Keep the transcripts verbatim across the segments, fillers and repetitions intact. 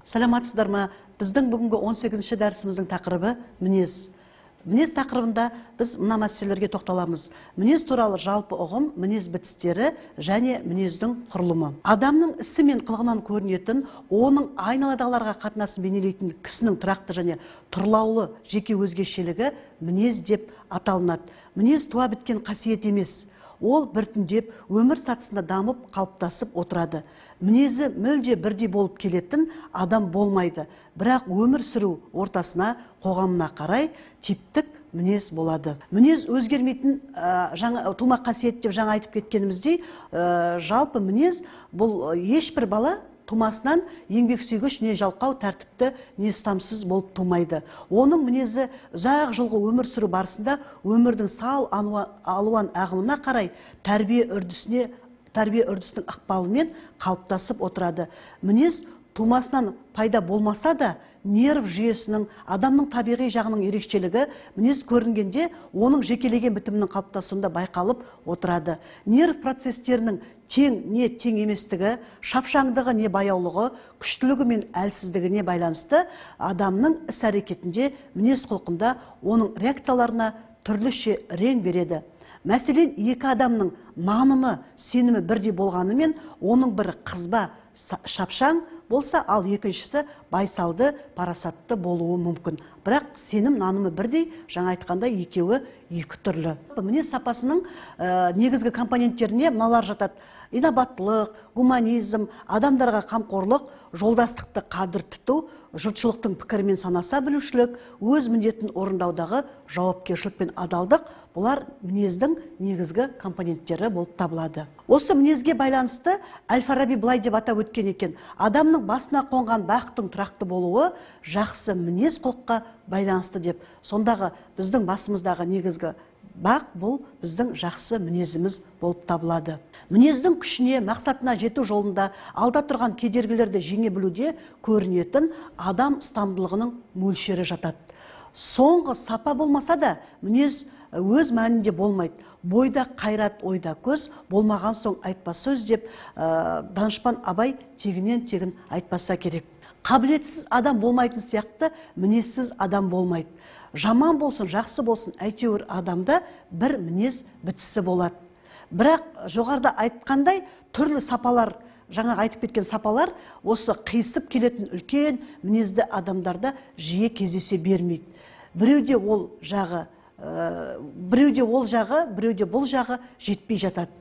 Саламатсыздар ма? Біздің бүгінгі он сегізінші дәрісіміздің тақырыбы мінез. Мінез тақырыбында біз мына мәселелерге тоқталамыз. Мінез туралы жалпы ұғым, мінез бітістері және мінездің құрылымы. Адамның ісі мен қылығынан көрінетін, оның айналадағыларға қатынасын бейнелейтін кісінің тұрақты және тұрлаулы жеке өзгешелігі мінез деп аталынады. Мінез туа біткен қасиет емес. Ол біртіндеп өмір сатысында дамып қалыптасып отырады. Мінезі мүлде бірдей болып келетін адам болмайды. Бірақ өмір сүру ортасына, қоғамына қарай типтік мінез болады. Мінез өзгермейтін жаңа тума қасиет деп жаңа айтып кеткеніміздей, жалпы мінез бұл ешбір бала тумасынан еңбексүйгіш не жалқау тәртіпті не ұстамсыз болып тумайды. Оның мінезі ұзақ жылғы өмір сүру барысында өмірдің сал алуан ағымына қарай тәрбие үрдісіне тәрбие үрдісінің ықпалымен қалыптасып отырады. Мінез тумасынан пайда болмаса да, нерв жүйесінің, адамның табиғи жағының ерекшелігі мінез көрінгенде оның жекелеген бітімінің қалыптасуында байқалып отырады. Нерв процестерінің тең не тең еместігі, шапшаңдығы не баяулығы, күштілігі мен әлсіздігіне байланысты адамның іс-әрекетінде, мінез құлқында оның реакцияларына түрліше рең береді. Мәселен, екі адамның нанымы, сенімі бірдей болғанымен, оның бірі қызба, шапшаң болса, ал екіншісі байсалды, парасатты болуы мүмкін. Бірақ сенім, нанымы бірдей, жаңа айтқанда екеуі екі түрлі. Мінез сапасының негізгі компоненттеріне мыналар жатады: инабаттылық, гуманизм, адамдарға қамқорлық, жолдастықты қадір тұту, жұртшылықтың пікірімен санаса білушілік, өз міндетін орындаудағы жауапкершілік пен адалдық — бұлар мінездің негізгі компоненттері болып табылады. Осы мінезге байланысты Әл-Фараби былай деп атап өткен екен: адамның басына қонған бақыттың тұрақты болуы жақсы мінез құлыққа байланысты деп. Сондағы біздің басымыздағы негізгі бақ бұл біздің жақсы мінезіміз болып табылады. Мінездің күшіне, мақсатына жету жолында алда тұрған кедергілерді жеңе білуде көрінетін адам ұстамдылығының мөлшері жатады. Соңғы сапа болмаса да, мінез өз мәнінде болмайды. Бойда қайрат, ойда көз, болмаған соң айтпа сөз деп данышпан Абай тегінен тегін айтпаса керек. Қабілетсіз адам болмайтын сияқты, мінезсіз адам болмайды. Жаман болсын, жақсы болсын, әйтеуір адамда бір мінез бітісі болады. Бірақ жоғарыда айтқандай түрлі сапалар, жаңа айтып кеткен сапалар, осы қисып келетін үлкен мінезді адамдарда жиі кездесе бермейді. Біреуде ол жағы, біреуде ол жағы, біреуде бұл жағы жетпей жатады.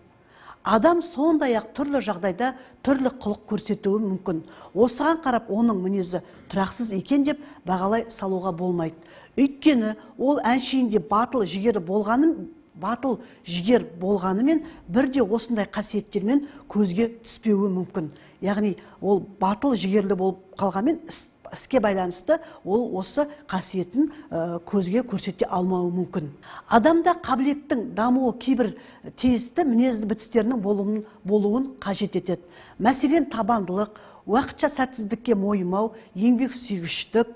Адам сондай-ақ түрлі жағдайда түрлі қылық көрсетуі мүмкін. Осыған қарап оның мінезі тұрақсыз екен деп бағалай салуға болмайды. Өйткені ол әншейінде батыл жігері болғанын, батыл жігер болғанымен бірде осындай қасиеттермен көзге түспеуі мүмкін. Яғни ол батыл жігерлі болып қалғанмен іске байланысты ол осы қасиетін көзге көрсете алмауы мүмкін. Адамда қабілеттің дамуы кейбір тиісті мінезді бітістерінің болуын қажет етеді. Мәселен, табандылық, уақытша сәтсіздікке мойымау, еңбексүйгіштік,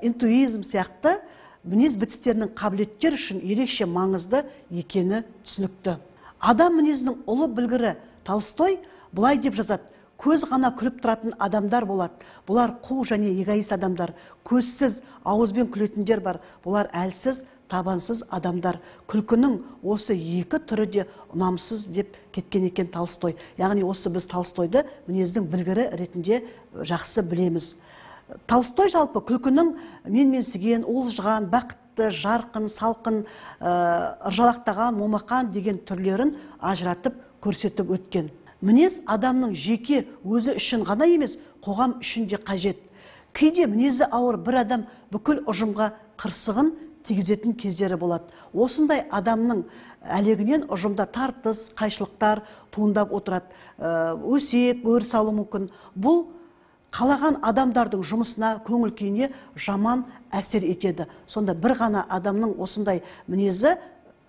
интуизм сияқты мінез бітістерінің қабілеттер үшін ерекше маңызды екені түсінікті. Адам мінезінің ұлы білгірі Толстой былай деп жазады: көз ғана күліп тұратын адамдар болады. Бұлар қу және эгоист адамдар. Көзсіз, ауызбен күлетіндер бар. Бұлар әлсіз, табансыз адамдар. Күлкінің осы екі түрі де ұнамсыз деп кеткен екен Толстой. Яғни осы біз Толстойды мінездің білгірі ретінде жақсы білеміз. Толстой жалпы күлкінің менменсіген, уылжыған, бақытты, жарқын, салқын, ыржалақтаған, момақан деген түрлерін ажыратып көрсетіп өткен. Мінез адамның жеке өзі үшін ғана емес, қоғам үшін де қажет. Кейде мінезі ауыр бір адам бүкіл ұжымға қырсығын тигізетін кездері болады. Осындай адамның әлегінен ұжымда тартыс, қайшылықтар туындап отырады. Өсек, өр салу мүмкін. Бұл қалаған адамдардың жұмысына, көңіл күйіне жаман әсер етеді. Сонда бір ғана адамның осындай мінезі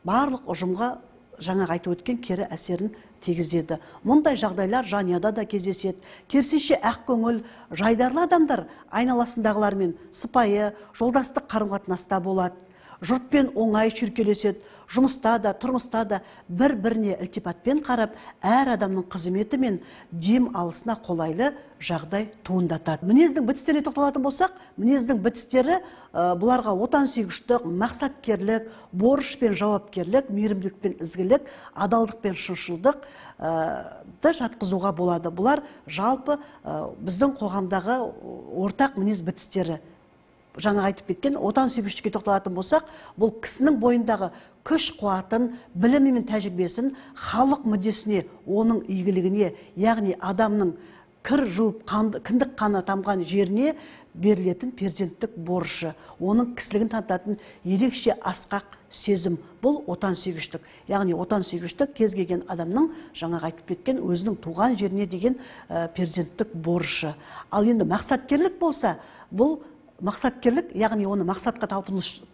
барлық ұжымға жаңа айтып өткен кері әсерін тигізеді. Мұндай жағдайлар жанұяда да кездеседі. Керісінше ақ көңіл, жайдарлы адамдар айналасындағылармен сыпайы, жолдастық қарым-қатынаста болады. жұртпен оңай шүйіркелеседі, жұмыста да, тұрмыста да бір-біріне ілтипатпен қарап, әр адамның қызметі мен дем алысына қолайлы жағдай туындатады. Мінездің бітістеріне тоқталатын болсақ, мінездің бітістері бұларға отансүйгіштік, мақсаткерлік, борыш пен жауапкерлік, мейірімділік пен ізгілік, адалдық пен шыншылдық да жатқызуға болады. Бұлар жалпы біздің қоғамдағы ортақ мінез бітістері. Жаңа айтып кеткен отансүйгіштікке тоқталатын болсақ, бұл кісінің бойындағы күш қуатын, білімі мен тәжірибесін халық мүддесіне, оның игілігіне, яғни адамның кір жуып, кіндік қаны тамған жеріне берілетін перзенттік борышы, оның кісілігін танытатын ерекше асқақ сезім. Бұл отансүйгіштік. Яғни отансүйгіштік кез келген адамның жаңағы айтып кеткен өзінің туған жеріне деген перзенттік борышы. Ал енді мақсаткерлік болса, бұл мақсаткерлік, яғни оны мақсатқа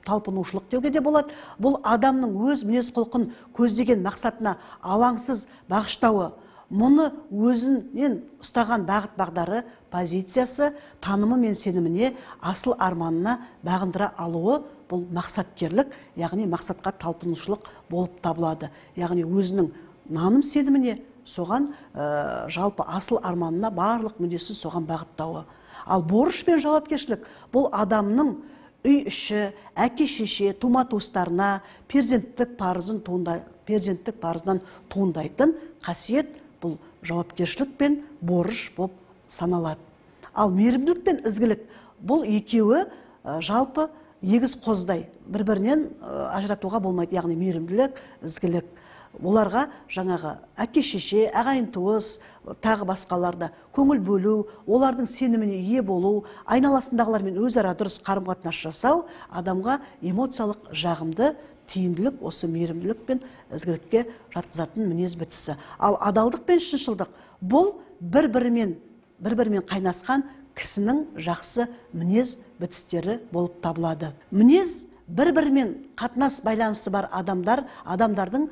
талпынушылық деуге де болады. Бұл адамның өз мінез құлқын көздеген мақсатына алаңсыз бағыштауы, мұны өзінен ұстаған бағыт бағдары, позициясы, танымы мен сеніміне, асыл арманына бағындыра алуы, бұл мақсаткерлік, яғни мақсатқа талпынушылық болып табылады. Яғни өзінің наным сеніміне, соған жалпы асыл арманына барлық мүддесін соған бағыттауы. Ал борыш пен жауапкершілік бұл адамның үй іші, әке-шеше, тума-туыстарына перзенттік парызын туындай, перзенттік парызынан туындайтын қасиет бұл жауапкершілік пен борыш болып саналады. Ал мейірімділік пен ізгілік бұл екеуі жалпы егіз қоздай, бір-бірінен ажыратуға болмайды. Яғни мейірімділік, ізгілік. Оларға жаңағы әке-шеше, ағайын-туыс, тағы басқаларда көңіл бөлу, олардың сеніміне ие болу, айналасындағылармен өзара дұрыс қарым-қатынас жасау адамға эмоциялық жағымды, тиімділік, осы мейірімділік пен ізгілікке жатқызатын мінез бітісі. Ал адалдық пен шыншылдық бұл бір-бірімен бір-бірімен қайнасқан кісінің жақсы мінез бітістері болып табылады. Мінез бір-бірімен қатынас байланысы бар адамдар, адамдардың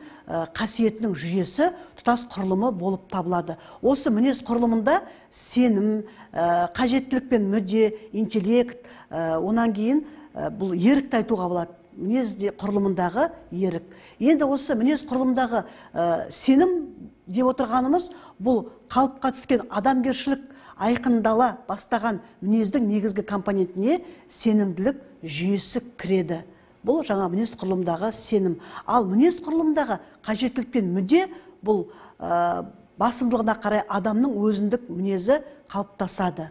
қасиетінің жүйесі, тұтас құрылымы болып табылады. Осы мінез құрылымында сенім, қажеттілік пен мүдде, интеллект, онан кейін бұл ерікті айтуға болады. Мінез құрылымындағы ерік. Енді осы мінез құрылымындағы сенім деп отырғанымыз, бұл қалыпқа түскен адамгершілік айқындала бастаған мінездің негізгі компонентіне сенімділік жүйесі кіреді. Бұл жаңа мінез құрылымдағы сенім. Ал мінез құрылымдағы қажеттілік пен мүдде бұл басымдылығына қарай адамның өзіндік мінезі қалыптасады.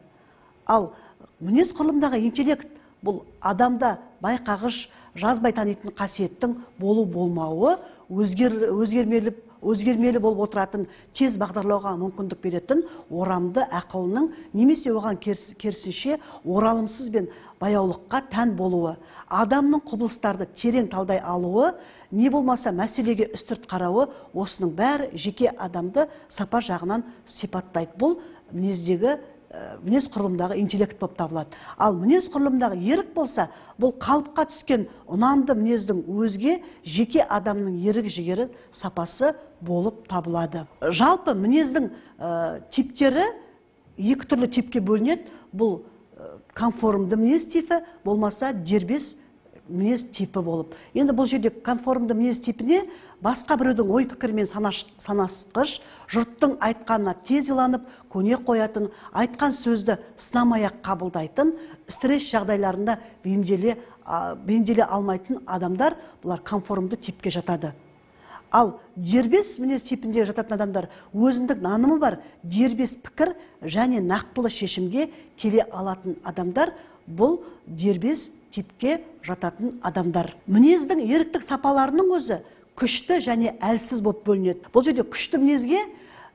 Ал мінез құрылымдағы интеллект бұл адамда байқағыш, жазбай танитын қасиеттің болу болмауы, өзгермелі өзгермелі болып отыратын, тез бағдарлауға мүмкіндік беретін орамды ақылының немесе оған керісінше оралымсыз бен баяулыққа тән болуы, адамның құбылыстарды терең талдай алуы, не болмаса мәселеге үстірт қарауы, осының бәрі жеке адамды сапа жағынан сипаттайды. Бұл мінездегі мінез құрылымдағы интеллект болып табылады. Ал мінез құрылымдағы ерік болса, бұл қалыпқа түскен ұнамды мінездің өзге жеке адамның ерік жігері сапасы болып табылады. Жалпы мінездің типтері екі түрлі типке бөлінеді. Бұл конформды мінез типі, болмаса дербес мінез типі болып. Енді бұл жерде конформды мінез типіне басқа біреудің ой пікірмен санасқыш, жұрттың айтқанына тез иланып, көне қоятын, айтқан сөзді сынамай-ақ қабылдайтын, стресс жағдайларында бейімделе алмайтын адамдар, бұлар конформды типке жатады. Ал дербес мінез типінде жататын адамдар өзіндік нанымы бар, дербес пікір және нақтылы шешімге келе алатын адамдар, бұл дербес типке жататын адамдар. Мінездің еріктік сапаларының өзі күшті және әлсіз болып бөлінеді. Бұл жерде күшті мінезге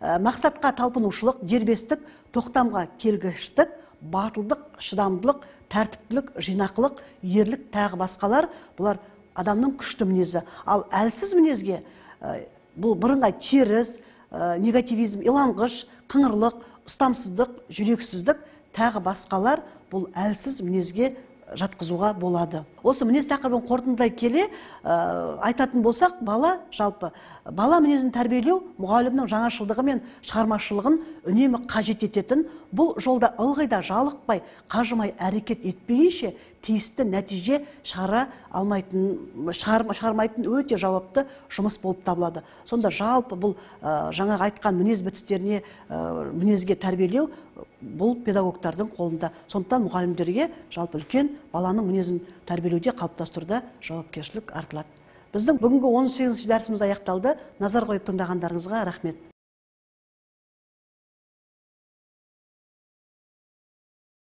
мақсатқа талпынушылық, дербестік, тоқтамға келгіштік, батылдық, шыдамдылық, тәртіптілік, жинақылық, ерлік тағы басқалар, бұлар адамның күшті мінезі. Ал әлсіз мінезге бұл бірыңғай теріс, негативизм, иланғыш, қыңырлық, ұстамсыздық, жүрексіздік тағы басқалар бұл әлсіз мінезге жатқызуға болады. Осы мінез тақырыбын қорытындылай келе айтатын болсақ, бала жалпы бала мінезін тәрбиелеу мұғалімнің жаңашылдығы мен шығармашылығын үнемі қажет ететін бұл жолда ылғи да жалықпай, қажымай әрекет етпейінше тиісті нәтиже шығара алмайтын, шығармайтын өте жауапты жұмыс болып табылады. Сонда жалпы бұл жаңағы айтқан мінез бітістеріне, мінезге тәрбиелеу бұл педагогтардың қолында. Сондықтан мұғалімдерге жалпы үлкен баланың мінезін тәрбиелеуде, қалыптастыруда жауапкершілік артылады. Біздің бүгінгі он сегізінші дәрісіміз аяқталды. Назар қойып тыңдағандарыңызға рахмет.